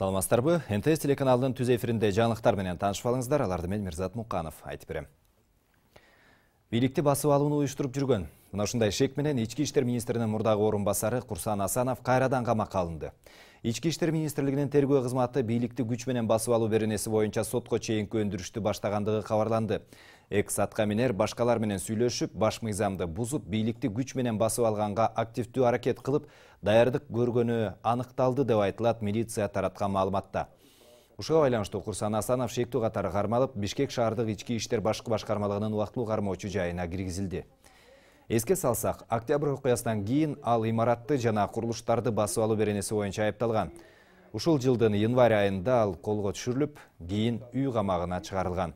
Саламатсыздарбы? НТС телеканалынын түз эфиринде жаңылыктар менен таанышып алыңыздар. Аларды мен Мирзат Муканов айтып берем. Бийликти басып алууну уюштуруп жүргөн. Мына ушундай шек менен Ички иштер министринин мурдагы орун басары Курсан Асанов кайрадан камакка алынды. Ички иштер министрлигинин тергөө кызматы бийликти күч менен басып алуу беренеси боюнча сотко чейинки өндүрүштү баштагандыгы кабарланды. Экс-аткаминер башкалар менен сүйлөшүп, баш мыйзамды бузуп, бийликти күч менен басып алганга активдүү аракет кылып, даярдык көргөнү аныкталды деп айтылат милиция тараткан маалыматта. Ушуга байланыштуу Курсан Асанов шектүү катары кармалып, Бишкек шаардык ички иштер башкы башкармалыгынын убактылуу кармоочу жайына киргизилди. Эске салсак, октябрь окуясынан кийин ал имаратты жана курулуштарды басып алуу беренеси боюнча айыпталган. Ушул жылдын январь айында ал колго түшүрүлүп, кийин үй камагына чыгарылган.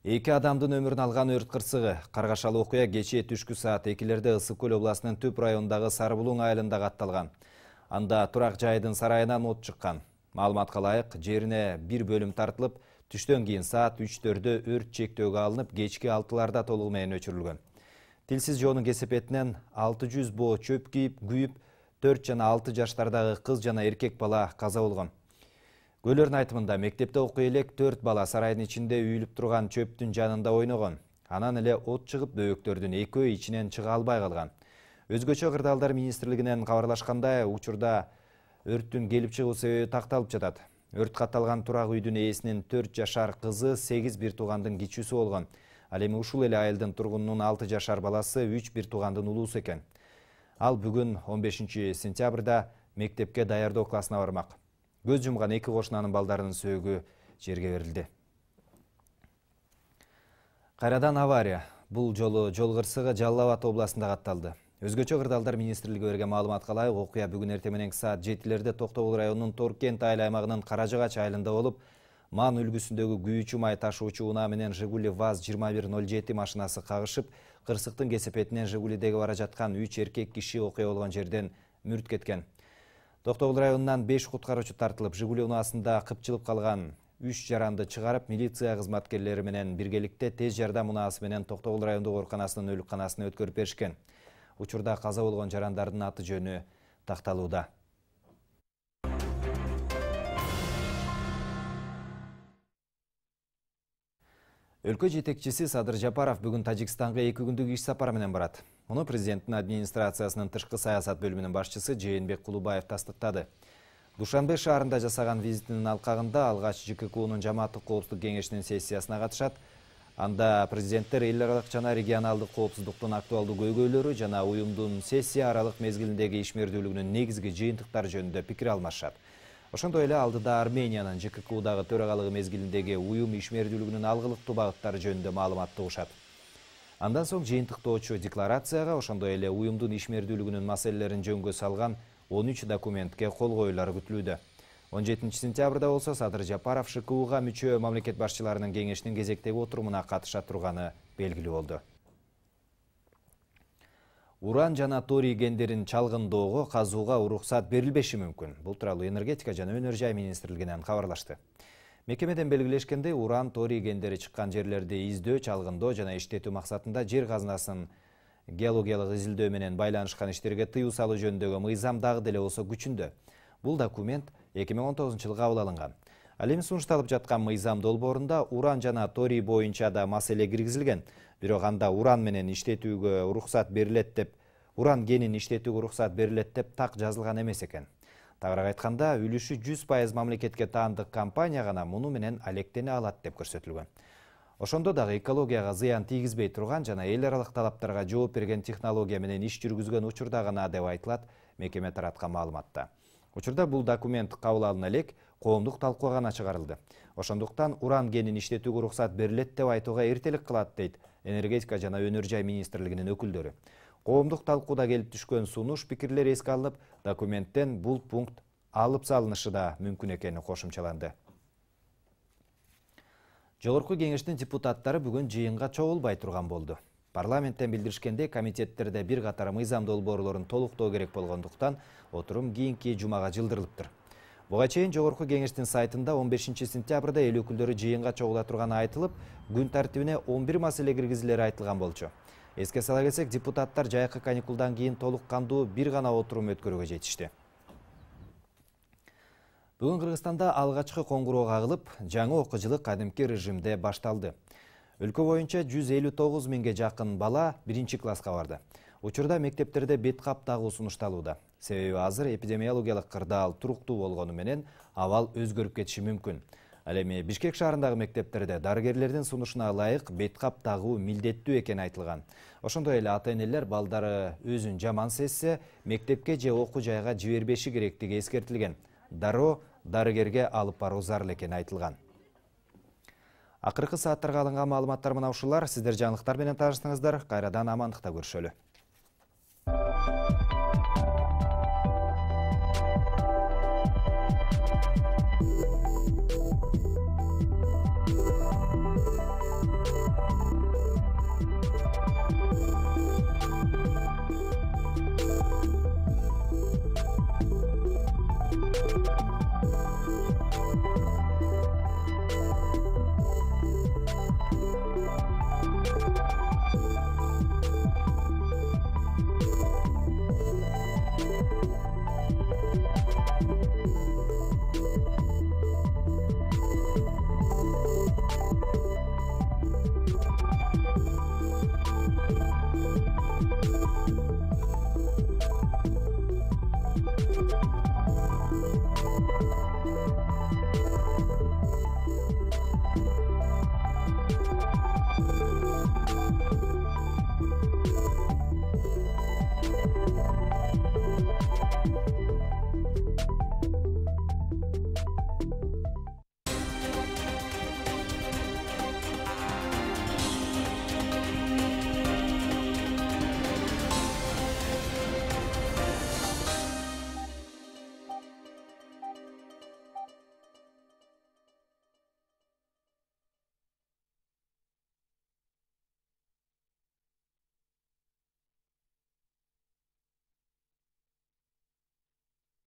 Эки адамдын өмүрүн алган өрт кырсыгы. Каргашалы окуя кечээ түшкү саат 2-лерде Ысык көл областынын Түп районундагы Сарыбулуң айылында катталган. Анда турак жайдын сарайынан от чыккан. Маалыматка ылайык, жерине бир бөлүм тартылып, түштөн кийин саат 3-төрдө өрт чектөөгө алынып, кечки 6-ларда толугу менен өчүрүлгөн. Тилсиз жоонун кесепетинен 600 боо чөп күйүп, 4 жана 6 жаштардагы кыз жана эркек бала каза болгон. Көлөрдүн айтымында мектепте окуй элек 4 бала сарайдын ичинде үйүлүп турган чөптүн жанында ойногон. Анан эле от чыгып, бөбөктөрдүн экөө ичинен чыга албай калган. Өзгөчө кырдаалдар министрлигинен кабарлашкандай, учурда өрттүн келип чыгуу себеби такталып жатат. Өрт катталган турак үйдүн ээсинин 4 жашар кызы 8 бир туугандын кичүүсү болгон. Ал эми ушул эле айылдын тургунунун 6 жашар баласы 3 бир туугандын улуусу экен. Ал бүгүн 15 сентябрда мектепке даярдоо классына бармак. Көз жумган эки кошунанын балдарынын сөөгү жерге берилди. Кайрадан авария. Бул жолу жол кырсыгы Жалал Абад областында катталды. Өзгөчө кырдаалдар министрлиги берген маалыматка ылайык, окуя бүгүн эртең мененки саат 7-лерде Токтогул районунун Торкент айыл аймагынын Каражагач айылында болуп, Ман үлгүсүндөгү күйүүчү май ташуучу унаа менен Жигули ВАЗ 2107 машинасы кагышып, кырсыктын кесепетинен Жигулидеги бара жаткан 3 эркек киши окуя болгон жерден мүрт кеткен. Токтогул районунан 5 куткаруучу тартылып, Жигули унаасында кыпчылып калган 3 жаранды чыгарып, милиция кызматкерлери менен биргеликте тез жардам унаасы менен Токтогул райондук ооруканасынын өлүкканасына өткөрүп беришкен. Учурда каза болгон жарандардын аты жөнү такталууда. Өлкө жетекчиси Садыр Жапаров бүгүн Тажикстанга 2 күндүк иш сапары менен барат. Муну президенттин администрациясынын тышкы саясат бөлүмүнүн башчысы Жээнбек Кулубаев тастыктады. Душанбе шаарында жасаган визитинин алкагында алгач ЖККУнун жамааттык коопсуздук кеңешинин сессиясына катышат. Анда президенттер эл аралык жана регионалдык коопсуздуктун актуалдуу көйгөйлөрү жана уюмдун сессия аралык мезгилиндеги ишмердүүлүгүнүн негизги жыйынтыктары жөнүндө пикир алмашат. Ошондой эле алдыда Армениянын ЖККУдагы төрагалыгы мезгилиндеги уюм ишмердүүлүгүнүн алгылыктуу багыттары жөнүндө маалымат угушат. Андан соң жыйынтыктоочу декларацияга, ошондой эле уюмдун ишмердүүлүгүнүн маселелерин жөнгө салган 13 документке кол коюлары күтүлүүдө. 17 сентябрда болсо Садыр Жапаров ШКУга мүчө мамлекет башчыларынын кеңешинин кезектеги отурумуна катыша турганы белгилүү болду. Уран жана торий кендерин чалгындоого казууга уруксат берилбеши мүмкүн. Бул тууралуу энергетика жана өнөр жай министрлигинен кабарлашты. Мекемеден белгилешкендей, уран, торий кендери чыккан жерлерди издөө, чалгындоо жана иштетүү максатында жер казынасын геологиялык изилдөө менен байланышкан иштерге тыюу салуу жөнүндөгү мыйзам дагы деле болсо күчүндө. Бул документ 2019 жылга кабыл алынган. Ал эми сунушталып жаткан мыйзам долбоорунда уран жана торий боюнча да маселе киргизилген. Бирок анда уран менен иштетүүгө уруксат берилет деп, уран кенин иштетүүгө уруксат берилет деп так жазылган эмес экен. Тагыраак айтканда, үлүшү 100% мамлекетке таандык компания гана муну менен алектене алат деп көрсөтүлгөн. Ошондо дагы экологияга зыян тийгизбей турган жана эл аралык талаптарга жооп берген технология менен иш жүргүзгөн учурда гана деп айтылат мекеме тараткан маалыматта. Учурда бул документ кабыл алына элек коомдук талкууга гана чыгарылды. Ошондуктан уран кенин иштетүүгө уруксат берилет деп айтууга эртелик кылат дейт энергетика жана өнөр жай министрлигинин өкүлдөрү. Коомдук талкууда келип түшкөн сунуш пикирлер эске алынып, документтен бул пункт алып салынышы да мүмкүн экени кошумчаланды. Жогорку кеңештин депутаттары бүгүн жыйынга чогулбай турган болду. Парламенттен билдиришкенде, комитеттерде бир катар мыйзам долбоорлорун толуктоо керек болгондуктан отурум кийинки жумага жылдырылыптыр. Буга чейин жогорку кеңештин сайтында 15 сентябрда эл өкүлдөрү жыйынга чогула турганы айтылып, күн тартибине 11 маселе киргизилери айтылган болчу. Эске сала кетсек, депутаттар жайкы каникулдан кийин толук кандуу бир гана отурум өткөрүүгө жетишти. Бүгүн Кыргызстанда алгачкы коңгуроо кагылып, жаңы окуу жылы кадимки режимде башталды. Өлкө боюнча 159 миңге жакын бала 1-класска барды. Учурда мектептерде бет кап тагуу сунушталууда. Себеби азыр эпидемиологиялык кырдаал туруктуу болгону менен абал өзгөрүп кетиши мүмкүн. Ал эми Бишкек шаарындагы мектептерде дарыгерлердин сунушуна ылайык бет кап тагуу милдеттүү экени айтылган. Ошондой эле ата-энелер балдары өзүн жаман сезсе, мектепке же окуу жайга жибербеши керектиги эскертилген. Дароо дарыгерге алып баруу зарыл экени айтылган. Акыркы сааттарга алынган маалыматтар мына ушулар. Сиздер жаңылыктар менен таанышсаңыздар, кайрадан амандыкта көрүшөлү.